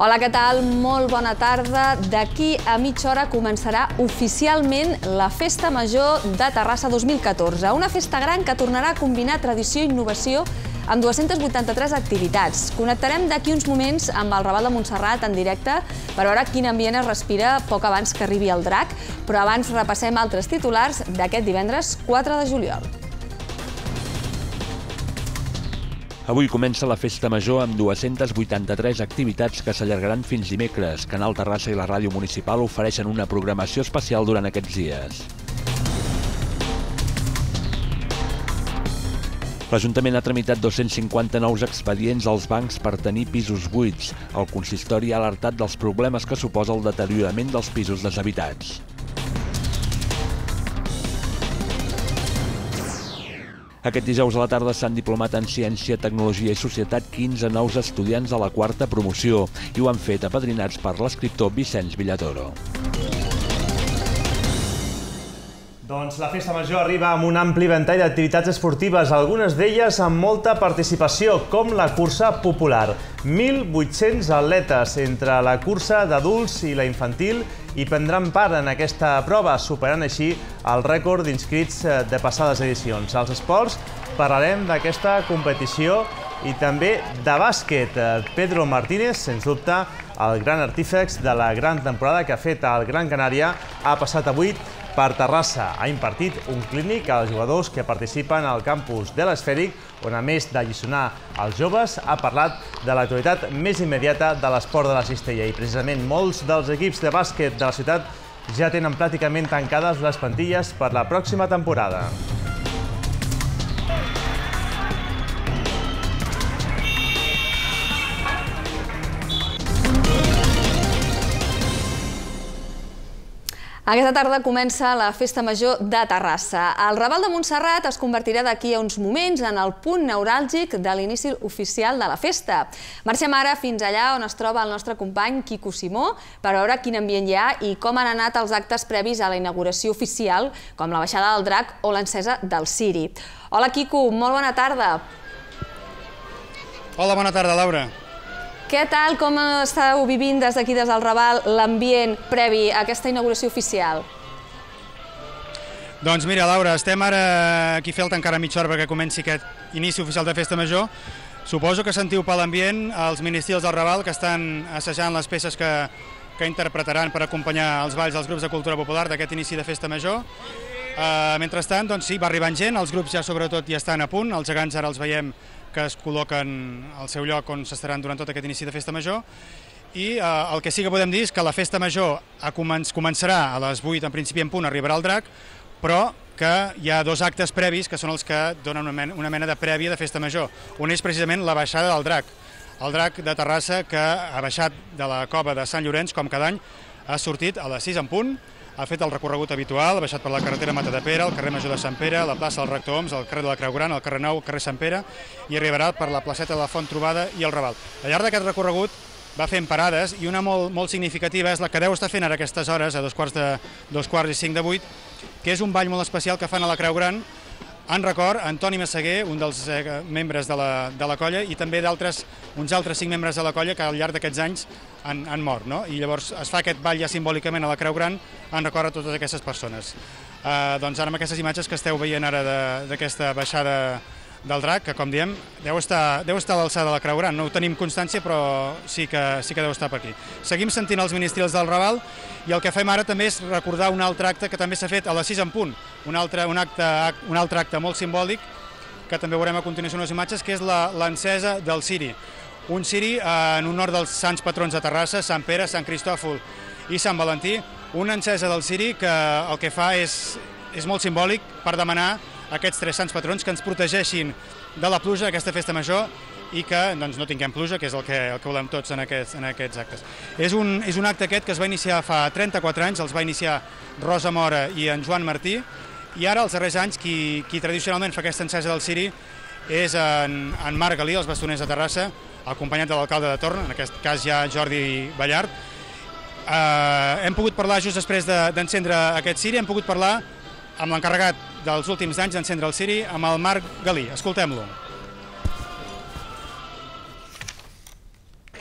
Hola, què tal? Molt bona tarda. D'aquí a mitja hora començarà oficialment la Festa Major de Terrassa 2014. Una festa gran que tornarà a combinar tradició i innovació amb 283 activitats. Connectarem d'aquí uns moments amb el Raval de Montserrat en directe per veure quin ambient es respira poc abans que arribi el drac, però abans repassem altres titulars d'aquest divendres 4 de juliol. Avui comença la Festa Major amb 283 activitats que s'allargaran fins dimecres. Canal Terrassa i la Ràdio Municipal ofereixen una programació especial durant aquests dies. L'Ajuntament ha tramitat 250 nous expedients als bancs per tenir pisos buits. El consistori ha alertat dels problemes que suposa el deteriorament dels pisos deshabitats. Aquest dijous a la tarda s'han diplomat en Ciència, Tecnologia i Societat 15 nous estudiants de la quarta promoció i ho han fet apadrinats per l'escriptor Vicenç Villatoro. Doncs la Festa Major arriba amb un ampli ventall d'activitats esportives, algunes d'elles amb molta participació, com la cursa popular. 1.800 atletes entre la cursa d'adults i la infantil i prendran part en aquesta prova, superant així el rècord d'inscrits de passades edicions. Als esports parlarem d'aquesta competició i també de bàsquet. Pedro Martínez, sens dubte, el gran artífex de la gran temporada que ha fet el Gran Canària, ha passat avui per Terrassa. Ha impartit un clínic als jugadors que participen al campus de l'Esfèric, on a més d'alliçonar els joves, ha parlat de l'actualitat més immediata de l'esport de la cistella. I precisament molts dels equips de bàsquet de la ciutat ja tenen pràcticament tancades les plantilles per la pròxima temporada. Aquesta tarda comença la Festa Major de Terrassa. El Raval de Montserrat es convertirà d'aquí a uns moments en el punt neuràlgic de l'inici oficial de la festa. Marxem ara fins allà on es troba el nostre company Quico Simó per veure quin ambient hi ha i com han anat els actes previs a la inauguració oficial, com la baixada del drac o l'encesa del ciri. Hola Quico, molt bona tarda. Hola, bona tarda, Laura. Què tal, com esteu vivint des d'aquí, des del Raval, l'ambient previ a aquesta inauguració oficial? Doncs mira, Laura, estem ara aquí fent encara mitja hora perquè comenci aquest inici oficial de Festa Major. Suposo que sentiu per l'ambient els ministrils del Raval que estan assajant les peces que interpretaran per acompanyar els balls dels grups de cultura popular d'aquest inici de Festa Major. Mentrestant, doncs sí, va arribant gent, els grups ja sobretot ja estan a punt, els gegants ara els veiem que es col·loquen al seu lloc on s'estaran durant tot aquest inici de Festa Major. I el que sí que podem dir és que la Festa Major començarà a les 8, en principi en punt, arribarà el drac, però que hi ha dos actes previs que són els que donen una mena de prèvia de Festa Major. Un és precisament la baixada del drac. El drac de Terrassa que ha baixat de la cova de Sant Llorenç, com cada any, ha sortit a les 6 en punt, ha fet el recorregut habitual, ha baixat per la carretera Matadepera, el carrer Major de Sant Pere, la plaça del Rector Oms, el carrer de la Creu Gran, el carrer Nou, el carrer Sant Pere, i arribarà per la placeta de la Font Trobada i el Raval. Al llarg d'aquest recorregut va fent parades i una molt significativa és la que deu estar fent ara aquestes hores, a dos quarts i 5 de 8, que és un ball molt especial que fan a la Creu Gran, en record a Antoni Massaguer, un dels membres de la colla, i també uns altres 5 membres de la colla que al llarg d'aquests anys han mort. I llavors es fa aquest ball ja simbòlicament a la Creu Gran en record a totes aquestes persones. Doncs ara amb aquestes imatges que esteu veient ara d'aquesta baixada del drac, que com diem, deu estar a l'alçada de la Creu Gran. No ho tenim constància, però sí que deu estar per aquí. Seguim sentint els ministrils del Raval i el que fem ara també és recordar un altre acte que també s'ha fet a les 6 en punt, un altre acte molt simbòlic que també veurem a continuació unes imatges, que és l'encesa del ciri. Un ciri en honor dels sants patrons de Terrassa, Sant Pere, Sant Cristòfol i Sant Valentí, una encesa del ciri que el que fa és molt simbòlic per demanar a aquests 3 sants patrons que ens protegeixin de la pluja d'aquesta Festa Major i que no tinguem pluja, que és el que volem tots en aquests actes. És un acte aquest que es va iniciar fa 34 anys, els va iniciar Rosa Mora i en Joan Martí, i ara, els darrers anys, qui tradicionalment fa aquesta encesa del ciri és en Marc Galí, els bastoners de Terrassa, acompanyat de l'alcalde de torn, en aquest cas ja Jordi Ballart. Hem pogut parlar just després d'encendre aquest ciri, hem pogut parlar amb l'encarregat dels últims anys d'encendre el ciri, amb el Marc Galí. Escoltem-lo.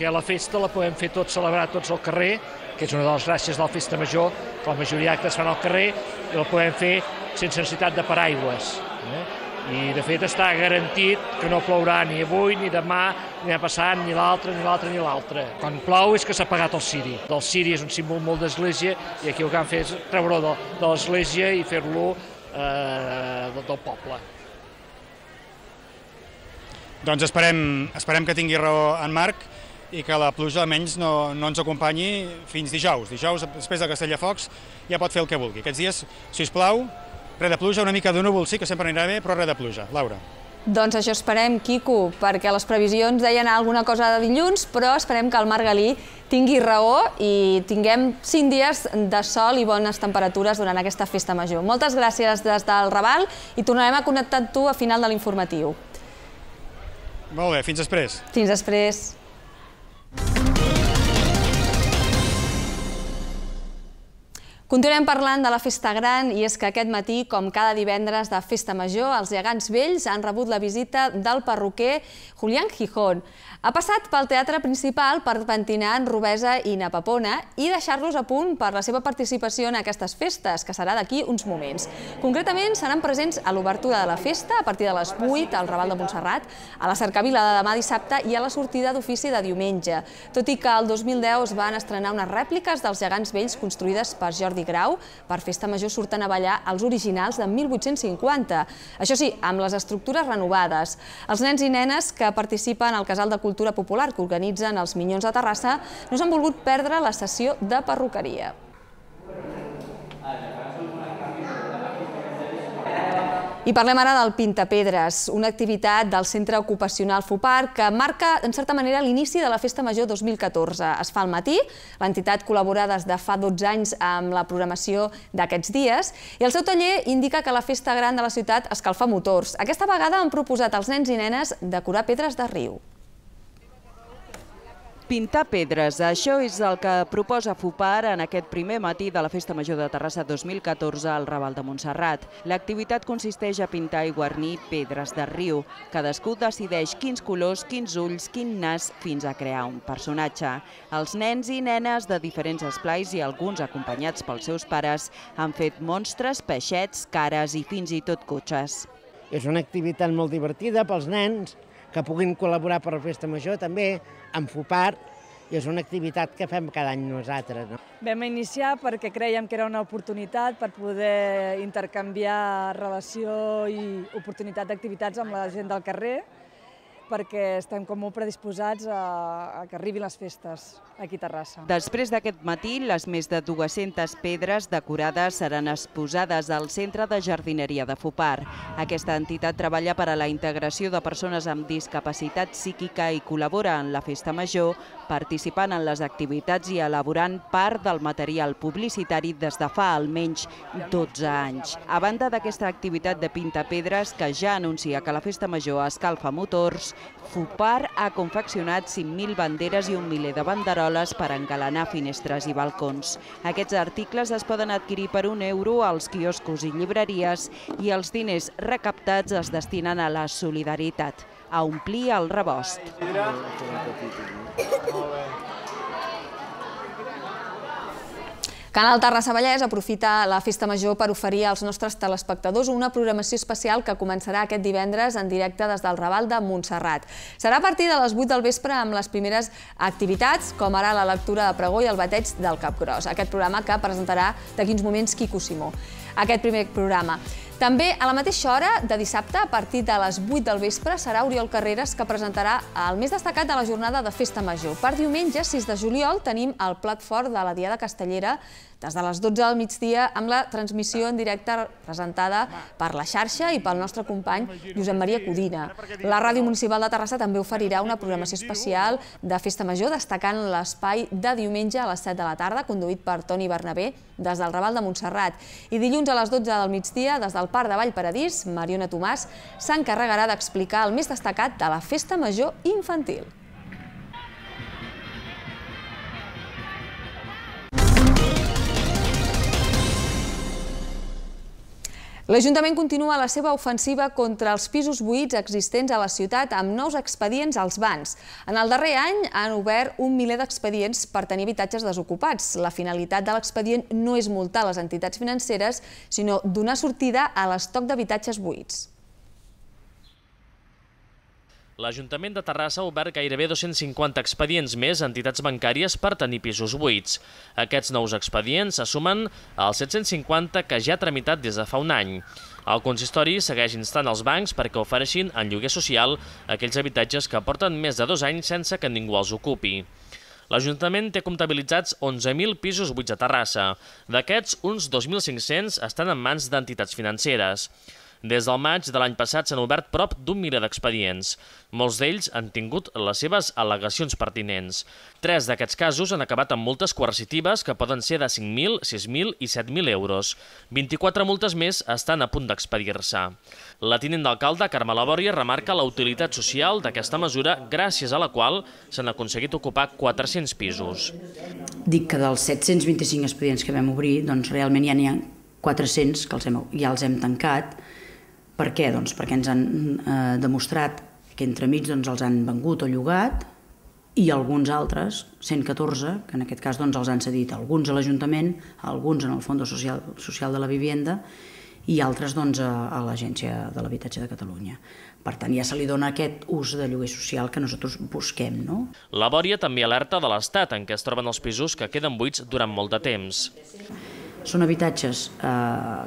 perquè la festa la podem fer celebrar tots al carrer, que és una de les gràcies de la festa major, que la majoria d'actes fan al carrer, i la podem fer sense necessitat de paraigües. I, de fet, està garantit que no plourà ni avui, ni demà, ni demà passat, ni l'altre, ni l'altre, ni l'altre. Quan plou és que s'ha apagat el ciri. El ciri és un símbol molt d'església i aquí el que han fet és treure-ho de l'església i fer-lo del poble. Doncs esperem que tingui raó en Marc i que la pluja almenys no ens acompanyi fins dijous. Dijous, després de Castelldefels, ja pot fer el que vulgui. Aquests dies, si us plau, res de pluja, una mica de núvol sí que sempre anirà bé, però res de pluja. Laura. Doncs això esperem, Quico, perquè les previsions deien alguna cosa de dilluns, però esperem que el Marc Galí tingui raó i tinguem 5 dies de sol i bones temperatures durant aquesta festa major. Moltes gràcies des del Raval i tornarem a connectar amb tu a final de l'informatiu. Molt bé, fins després. Fins després. Continuem parlant de la Festa Gran i és que aquest matí, com cada divendres de Festa Major, els gegants vells han rebut la visita del perruquer Julián Gijón. Ha passat pel teatre principal per pentinar en Rubesa i Napapona i deixar-los a punt per la seva participació en aquestes festes, que serà d'aquí uns moments. Concretament, seran presents a l'obertura de la festa a partir de les 8 al Raval de Montserrat, a la cercavila de demà dissabte i a la sortida d'ofici de diumenge. Tot i que el 2010 es van estrenar unes rèpliques dels gegants vells construïdes per Jordi Grau, per Festa Major surten a ballar els originals de 1850. Això sí, amb les estructures renovades. Els nens i nenes que participen al Casal de Cultura Popular que organitzen els Minyons de Terrassa no s'han volgut perdre la sessió de perruqueria. I parlem ara del Pintapedres, una activitat del Centre Ocupacional FUPAR que marca, en certa manera, l'inici de la Festa Major 2014. Es fa al matí, l'entitat col·labora des de fa 12 anys amb la programació d'aquests dies i el seu taller indica que la Festa Gran de la ciutat escalfa motors. Aquesta vegada han proposat als nens i nenes decorar pedres de riu. Pintar pedres, això és el que proposa FUPAR en aquest primer matí de la Festa Major de Terrassa 2014 al Raval de Montserrat. L'activitat consisteix a pintar i guarnir pedres de riu. Cadascú decideix quins colors, quins ulls, quin nas, fins a crear un personatge. Els nens i nenes de diferents esplais i alguns acompanyats pels seus pares han fet monstres, peixets, cares i fins i tot cotxes. És una activitat molt divertida pels nens que puguin col·laborar per la Festa Major també amb FUPAR i és una activitat que fem cada any nosaltres. Vam iniciar perquè creiem que era una oportunitat per poder intercanviar relació i oportunitat d'activitats amb la gent del carrer perquè estem com molt predisposats a que arribin les festes aquí a Terrassa. Després d'aquest matí, les més de 200 pedres decorades seran exposades al Centre de Jardineria de FUPAR. Aquesta entitat treballa per a la integració de persones amb discapacitat psíquica i col·labora en la Festa Major, participant en les activitats i elaborant part del material publicitari des de fa almenys 12 anys. A banda d'aquesta activitat de pintapedres que ja anuncia que la Festa Major escalfa motors, FUPAR ha confeccionat 5.000 banderes i un miler de banderoles per engalanar finestres i balcons. Aquests articles es poden adquirir per €1 als quioscos i llibreries i els diners recaptats es destinen a la solidaritat, a omplir el rebost. Canal Terrassa Vallès aprofita la Festa Major per oferir als nostres telespectadors una programació especial que començarà aquest divendres en directe des del Raval de Montserrat. Serà a partir de les 8 del vespre amb les primeres activitats, com ara la lectura de pregó i el bateig del Capgròs, aquest programa que presentarà d'aquí uns moments Quico Simó. Aquest primer programa. També a la mateixa hora de dissabte, a partir de les 8 del vespre, serà Oriol Carreras que presentarà el més destacat de la jornada de Festa Major. Per diumenge, 6 de juliol, tenim el plat fort de la Diada Castellera des de les 12 del migdia amb la transmissió en directe presentada per la xarxa i pel nostre company Josep Maria Codina. La Ràdio Municipal de Terrassa també oferirà una programació especial de Festa Major destacant l'espai de diumenge a les 7 de la tarda, conduït per Toni Bernabé des del Raval de Montserrat. I dilluns a les 12 del migdia, des del Parc de Vallparadís, Mariona Tomàs s'encarregarà d'explicar el més destacat de la Festa Major infantil. L'Ajuntament continua la seva ofensiva contra els pisos buits existents a la ciutat amb nous expedients als bans. En el darrer any han obert 1 miler d'expedients per tenir habitatges desocupats. La finalitat de l'expedient no és multar les entitats financeres, sinó donar sortida a l'estoc d'habitatges buits. L'Ajuntament de Terrassa ha obert gairebé 250 expedients més a entitats bancàries per tenir pisos buits. Aquests nous expedients se sumen als 750 que ja ha tramitat des de fa un any. El consistori segueix instant els bancs perquè ofereixin en lloguer social aquells habitatges que porten més de 2 anys sense que ningú els ocupi. L'Ajuntament té comptabilitzats 11.000 pisos buits a Terrassa. D'aquests, uns 2.500 estan en mans d'entitats financeres. Des del maig de l'any passat s'han obert prop d'1 miler d'expedients. Molts d'ells han tingut les seves al·legacions pertinents. 3 d'aquests casos han acabat amb multes coercitives que poden ser de 5.000, 6.000 i 7.000 euros. 24 multes més estan a punt d'expedir-se. La tinent d'alcalde, Carme Labòria, remarca la utilitat social d'aquesta mesura, gràcies a la qual s'han aconseguit ocupar 400 pisos. Dic que dels 725 expedients que vam obrir, doncs realment ja n'hi ha 400 que ja els hem tancat. Per què? Doncs perquè ens han demostrat que entremig els han vengut o llogat i alguns altres, 114, que en aquest cas els han cedit alguns a l'Ajuntament, alguns en el Fons Social de la Vivienda i altres a l'Agència de l'Habitatge de Catalunya. Per tant, ja se li dona aquest ús de lloguer social que nosaltres busquem. Labòria també alerta de l'estat en què es troben els pisos que queden buits durant molt de temps. Són habitatges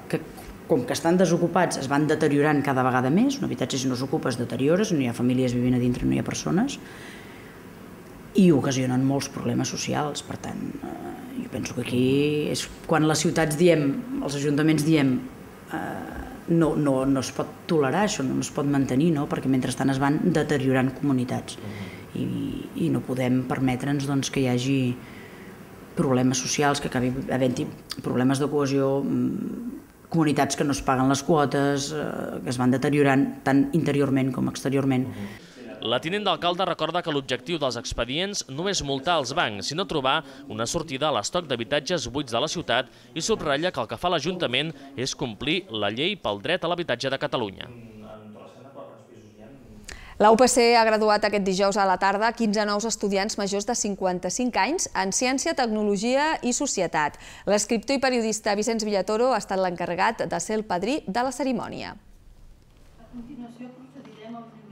que, com que estan desocupats, es van deteriorant cada vegada més. Un habitatge, si no s'ocupa, es deteriora, si no hi ha famílies vivint a dintre, no hi ha persones, i ocasionen molts problemes socials. Per tant, jo penso que aquí és quan les ciutats diem, els ajuntaments diem, no es pot tolerar això, no es pot mantenir, perquè mentrestant es van deteriorant comunitats i no podem permetre'ns que hi hagi problemes socials, que acabi havent-hi problemes de cohesió, comunitats que no es paguen les quotes, que es van deteriorant tant interiorment com exteriorment. La tinent d'alcalde recorda que l'objectiu dels expedients no és multar els bancs, sinó trobar una sortida a l'estoc d'habitatges buits de la ciutat i subratlla que el que fa l'Ajuntament és complir la llei pel dret a l'habitatge de Catalunya. La UPC ha graduat aquest dijous a la tarda 15 nous estudiants majors de 55 anys en Ciència, Tecnologia i Societat. L'escriptor i periodista Vicenç Villatoro ha estat l'encarregat de ser el padrí de la cerimònia.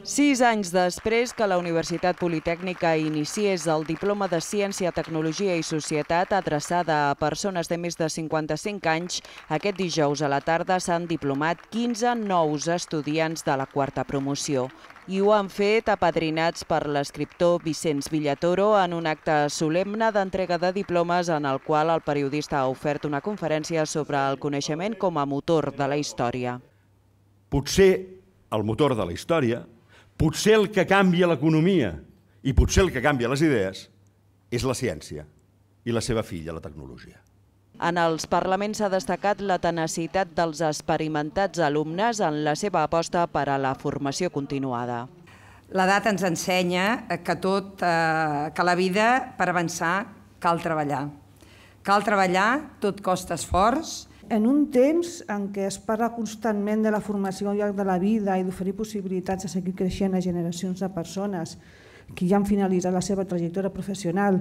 6 anys després que la Universitat Politècnica iniciés el Diploma de Ciència, Tecnologia i Societat adreçada a persones de més de 55 anys, aquest dijous a la tarda s'han diplomat 15 nous estudiants de la quarta promoció. I ho han fet apadrinats per l'escriptor Vicenç Villatoro en un acte solemne d'entrega de diplomes en el qual el periodista ha ofert una conferència sobre el coneixement com a motor de la història. Potser el motor de la història, potser el que canvia l'economia i potser el que canvia les idees és la ciència i la seva filla, la tecnologia. En els parlaments s'ha destacat la tenacitat dels experimentats alumnes en la seva aposta per a la formació continuada. L'edat ens ensenya que la vida, per avançar, cal treballar. Cal treballar, tot costa esforç. En un temps en què es parla constantment de la formació al llarg de la vida i d'oferir possibilitats de seguir creixent a generacions de persones que ja han finalitzat la seva trajectòria professional,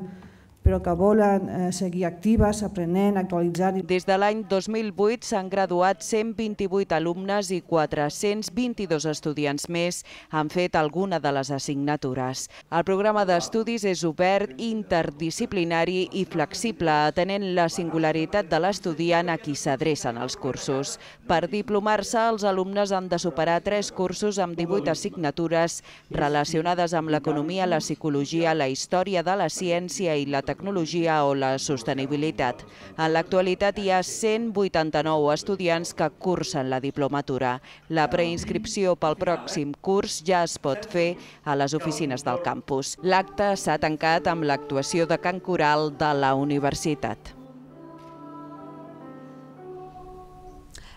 però que volen seguir actives, aprenent, actualitzant. Des de l'any 2008 s'han graduat 128 alumnes i 422 estudiants més han fet alguna de les assignatures. El programa d'estudis és obert, interdisciplinari i flexible, atenent la singularitat de l'estudiant a qui s'adrecen els cursos. Per diplomar-se, els alumnes han de superar 3 cursos amb 18 assignatures relacionades amb l'economia, la psicologia, la història de la ciència i la tecnologia o la sostenibilitat. En l'actualitat hi ha 189 estudiants que cursen la diplomatura. La preinscripció pel pròxim curs ja es pot fer a les oficines del campus. L'acte s'ha tancat amb l'actuació de cant coral de la universitat.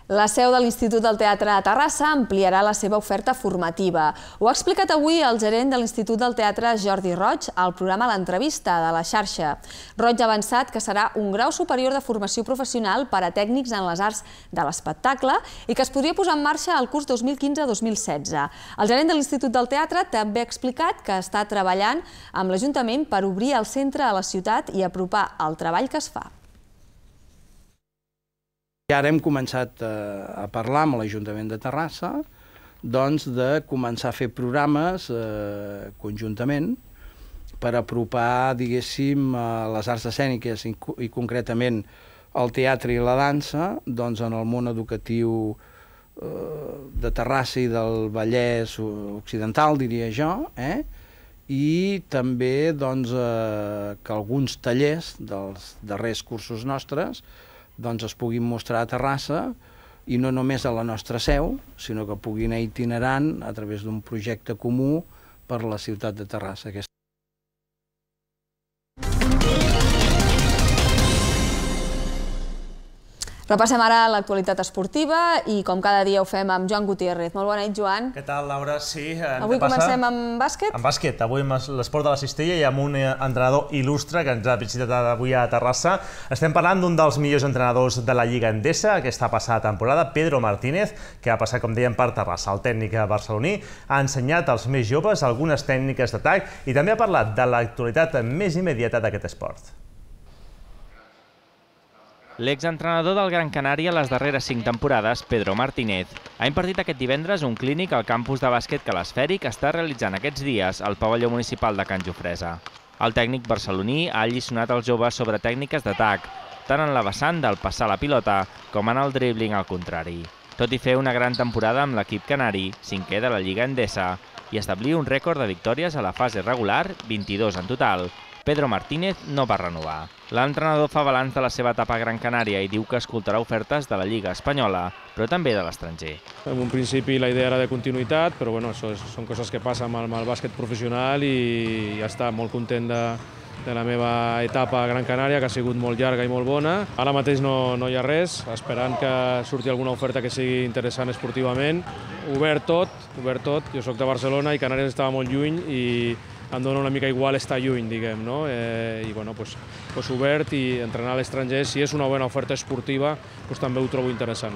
La seu de l'Institut del Teatre a Terrassa ampliarà la seva oferta formativa. Ho ha explicat avui el gerent de l'Institut del Teatre, Jordi Roig, al programa L'Entrevista de la xarxa. Roig ha avançat que serà un grau superior de formació professional per a tècnics en les arts de l'espectacle i que es podria posar en marxa el curs 2015-2016. El gerent de l'Institut del Teatre també ha explicat que està treballant amb l'Ajuntament per obrir el centre a la ciutat i apropar el treball que es fa. I ara hem començat a parlar amb l'Ajuntament de Terrassa de començar a fer programes conjuntament per apropar, diguéssim, les arts escèniques i concretament el teatre i la dansa en el món educatiu de Terrassa i del Vallès Occidental, diria jo, i també que alguns tallers dels darrers cursos nostres es puguin mostrar a Terrassa i no només a la nostra seu, sinó que puguin anar itinerant a través d'un projecte comú per la ciutat de Terrassa. Repassem ara l'actualitat esportiva i com cada dia ho fem amb Joan Gutiérrez. Molt bona nit, Joan. Què tal, Laura? Sí. Avui comencem amb bàsquet? Amb bàsquet. Avui amb l'esport de la cistella i amb un entrenador il·lustre que ens ha visitat avui a Terrassa. Estem parlant d'un dels millors entrenadors de la Lliga Endesa aquesta passada temporada, Pedro Martínez, que ha passat, com dèiem, per Terrassa. El tècnic barceloní ha ensenyat als més joves algunes tècniques d'atac i també ha parlat de l'actualitat més immediata d'aquest esport. L'exentrenador del Gran Canària les darreres 5 temporades, Pedro Martínez, ha impartit aquest divendres un clínic al campus de bàsquet que l'Esfèric està realitzant aquests dies al pavelló municipal de Can Jofresa. El tècnic barceloní ha alliçonat els joves sobre tècniques d'atac, tant en la vessant del passar la pilota com en el dribbling al contrari. Tot i fer una gran temporada amb l'equip canari, 5è de la Lliga Endesa, i establir un rècord de victòries a la fase regular, 22 en total, Pedro Martínez no va renovar. L'entrenador fa balanç de la seva etapa a Gran Canària i diu que escoltarà ofertes de la Lliga Espanyola, però també de l'estranger. En un principi la idea era de continuïtat, però bueno, són coses que passen amb el bàsquet professional i ja està, molt content de la meva etapa a Gran Canària, que ha sigut molt llarga i molt bona. Ara mateix no hi ha res, esperant que surti alguna oferta que sigui interessant esportivament. Obert tot. Jo soc de Barcelona i Canàries estava molt lluny i em dona una mica igual estar lluny, diguem, no? I bueno, obert i entrenar a l'estranger, si és una bona oferta esportiva, també ho trobo interessant.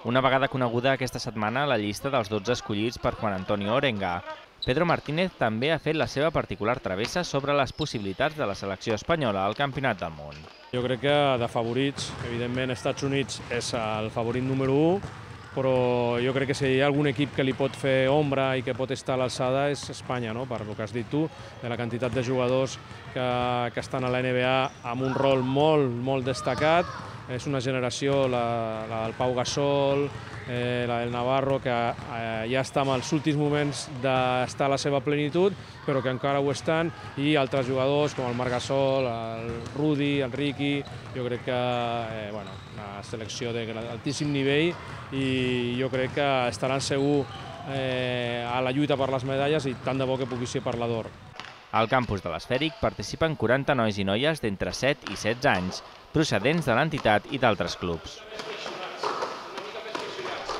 Una vegada coneguda aquesta setmana la llista dels 12 escollits per Juan Antonio Orenga, Pedro Martínez també ha fet la seva particular travessa sobre les possibilitats de la selecció espanyola al Campionat del Món. Jo crec que de favorits, evidentment, Estats Units és el favorit número 1, però jo crec que si hi ha algun equip que li pot fer ombra i que pot estar a l'alçada és Espanya, per el que has dit tu, de la quantitat de jugadors que estan a la NBA amb un rol molt destacat. És una generació, el Pau Gasol, la del Navarro, que ja està en els últims moments d'estar a la seva plenitud, però que encara ho estan, i altres jugadors com el Marc Gasol, el Rudi, el Ricky. Jo crec que una selecció d'altíssim nivell i jo crec que estaran segur a la lluita per les medalles i tant de bo que pugui ser per la d'or. Al campus de l'Esfèric participen 40 nois i noies d'entre 7 i 16 anys, procedents de l'entitat i d'altres clubs.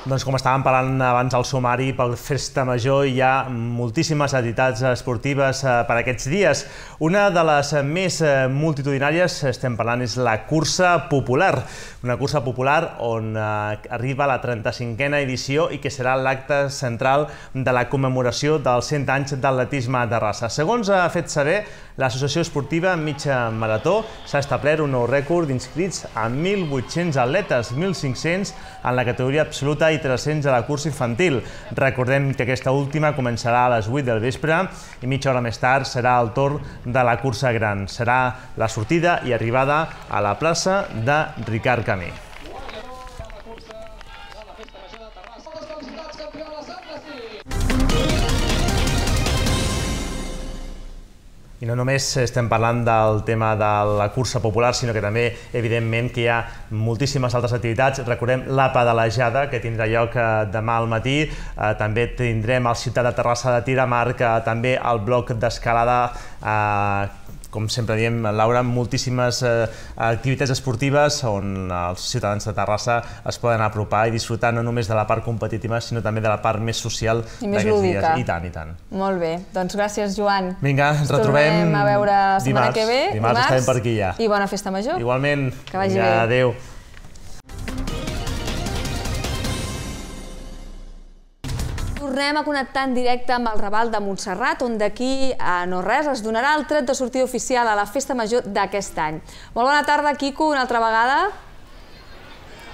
Doncs com estàvem parlant abans al sumari, pel Festa Major hi ha moltíssimes entitats esportives per aquests dies. Una de les més multitudinàries, estem parlant, és la cursa popular. Una cursa popular on arriba la 35a edició i que serà l'acte central de la commemoració dels 100 anys d'atletisme a Terrassa. Segons ha fet saber l'associació esportiva Mitja Marató, s'ha establert un nou rècord d'inscrits amb 1.800 atletes, 1.500 en la categoria absoluta i 300 a la cursa infantil. Recordem que aquesta última començarà a les 8 del vespre i mitja hora més tard serà el torn de la cursa gran. Serà la sortida i arribada a la plaça de Ricard Camí. I no només estem parlant del tema de la cursa popular, sinó que també, evidentment, que hi ha moltíssimes altres activitats. Recordem la pedalejada, que tindrà lloc demà al matí. També tindrem el Ciutat de Terrassa de tir amb arc, també el bloc d'escalada com sempre diem, Laura, moltíssimes activitats esportives on els ciutadans de Terrassa es poden apropar i disfrutar no només de la part competitiva, sinó també de la part més social d'aquests dies. I tant, i tant. Molt bé. Doncs gràcies, Joan. Vinga, ens retrobem tornem a veure la setmana que ve. Dimarts estarem per aquí ja. I bona festa major. Igualment. Que vagi bé. Adéu. Tornem a connectar en directe amb el Raval de Montserrat, on d'aquí a no res es donarà el tret de sortida oficial a la festa major d'aquest any. Molt bona tarda, Quico, una altra vegada.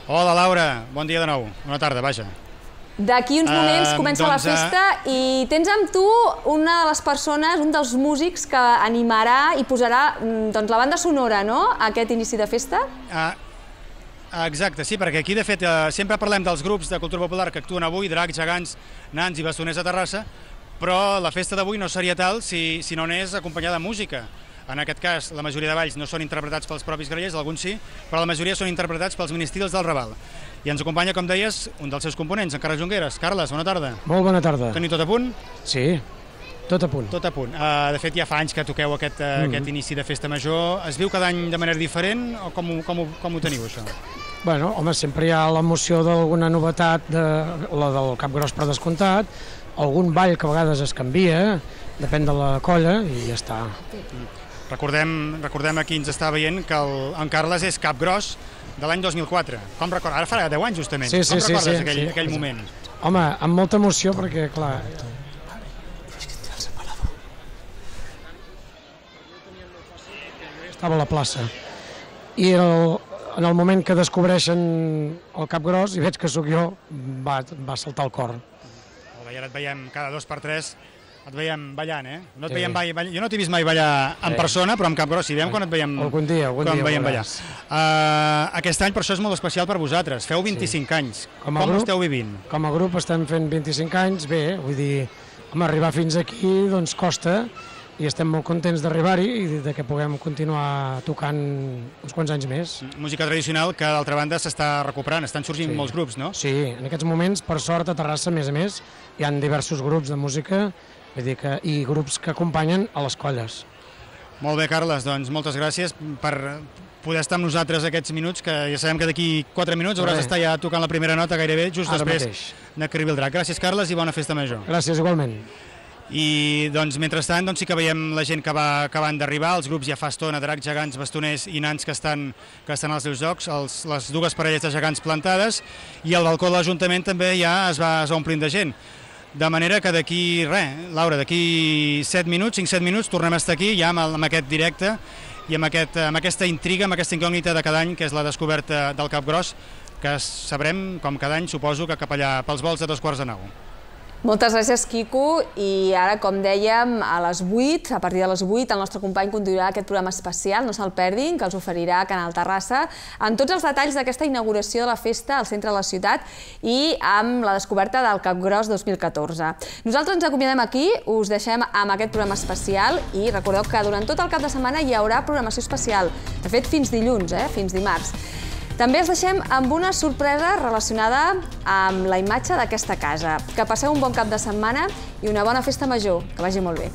Hola, Laura. Bon dia de nou. Bona tarda, vaja. D'aquí uns moments comença la festa i tens amb tu una de les persones, un dels músics que animarà i posarà la banda sonora, no?, a aquest inici de festa. Exacte, sí, perquè aquí, de fet, sempre parlem dels grups de cultura popular que actuen avui, dracs, gegants, nans i bastoners a Terrassa, però la festa d'avui no seria tal si no anés acompanyada de música. En aquest cas, la majoria de balls no són interpretats pels propis grallers, alguns sí, però la majoria són interpretats pels ministrils del Raval. I ens acompanya, com deies, un dels seus components, en Carles Junqueras. Carles, bona tarda. Molt bona tarda. Teniu tot a punt? Sí, tot a punt. Tot a punt. De fet, ja fa anys que toqueu aquest inici de festa major. Es viu cada any de manera diferent o com ho teniu, això? Bueno, home, sempre hi ha l'emoció d'alguna novetat, la del Capgròs per descomptat, algun ball que a vegades es canvia, depèn de la colla i ja està. Recordem a qui ens està veient que en Carles és Capgròs de l'any 2004. Com recordes? Ara farà 10 anys, justament. Com recordes aquell moment? Home, amb molta emoció, perquè, clar... Estava a la plaça. I en el moment que descobreixen el Capgròs i veig que sóc jo, va saltar el cor. I ara et veiem cada 2 per 3, et veiem ballant, eh? Jo no t'he vist mai ballar en persona, però amb Capgròs sí, veiem quan et veiem ballar. Aquest any per això és molt especial per vosaltres, feu 25 anys, com ho esteu vivint? Com a grup estem fent 25 anys, bé, vull dir, arribar fins aquí doncs costa, i estem molt contents d'arribar-hi i que puguem continuar tocant uns quants anys més. Música tradicional que, d'altra banda, s'està recuperant, estan sorgint molts grups, no? Sí, en aquests moments, per sort, a Terrassa, a més, hi ha diversos grups de música i grups que acompanyen a les colles. Molt bé, Carles, doncs moltes gràcies per poder estar amb nosaltres aquests minuts, que ja sabem que d'aquí 4 minuts hauràs d'estar ja tocant la primera nota gairebé, just després de que arribi el drac. Gràcies, Carles, i bona festa major. Gràcies, igualment. I doncs, mentrestant, sí que veiem la gent que va acabant d'arribar, els grups ja fa estona, dracs, gegants, bastoners i nans que estan als seus jocs, les dues parelles de gegants plantades, i el balcó de l'Ajuntament també ja es va omplint de gent. De manera que d'aquí, Laura, d'aquí 5-7 minuts tornem a estar aquí ja amb aquest directe i amb aquesta intriga, amb aquesta incògnita de cada any, que és la descoberta del Capgròs, que sabrem, com cada any, suposo, que cap allà pels volts de 8:45. Moltes gràcies, Quico, i ara, com dèiem, a partir de les 8, el nostre company conduirà aquest programa especial, no se'l perdin, que els oferirà Canal Terrassa, amb tots els detalls d'aquesta inauguració de la festa al centre de la ciutat i amb la descoberta del Capgròs 2014. Nosaltres ens acomiadem aquí, us deixem amb aquest programa especial i recordeu que durant tot el cap de setmana hi haurà programació especial, de fet fins dilluns, fins dimarts. També els deixem amb una sorpresa relacionada amb la imatge d'aquesta casa. Que passeu un bon cap de setmana i una bona festa major. Que vagi molt bé.